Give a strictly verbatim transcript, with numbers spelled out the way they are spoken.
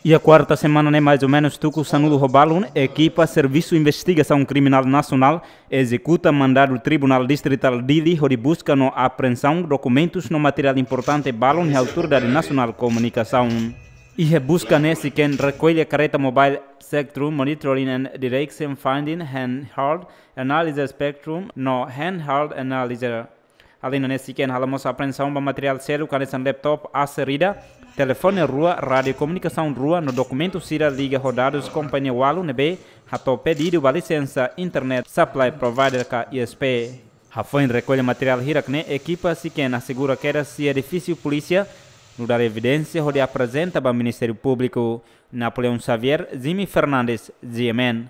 Iha kuarta semana ne'e, mais ou menus tuku sanulu ho balun, ekipa Servisu Investigasaun Kriminál Nasionál ezekuta mandadu Tribunál Distritál Dili hodi buska no apreensaun dokumentus no materiál importante balun iha Autoridade Nasionál Komunikasaun. Iha buska ne'e SICKEN rekolla karreta mobile Spectrum Monitoring and Direction Finding Handheld Analyzer Spectrum no Handheld Analyzer. Além ne'e, SICKEN halo mós apreensaun ba materiál seluk hanesan laptop Acer ida, telefone rua, rádiu komunikasaun rua no dokumentu sira liga ho dadus kompañia ualu ne'ebé hato'o pedidu ba lisensa Internet Supply Provider ka I S P. Hafoin rekolla materiál hirak ne'e, ekipa SICKEN asegura kedas iha edifísiu polísia, nu'udar evidénsia hodi aprezenta ba Ministériu Públiku. Napoleão Xavier, Jimmy Fernandes, G M N.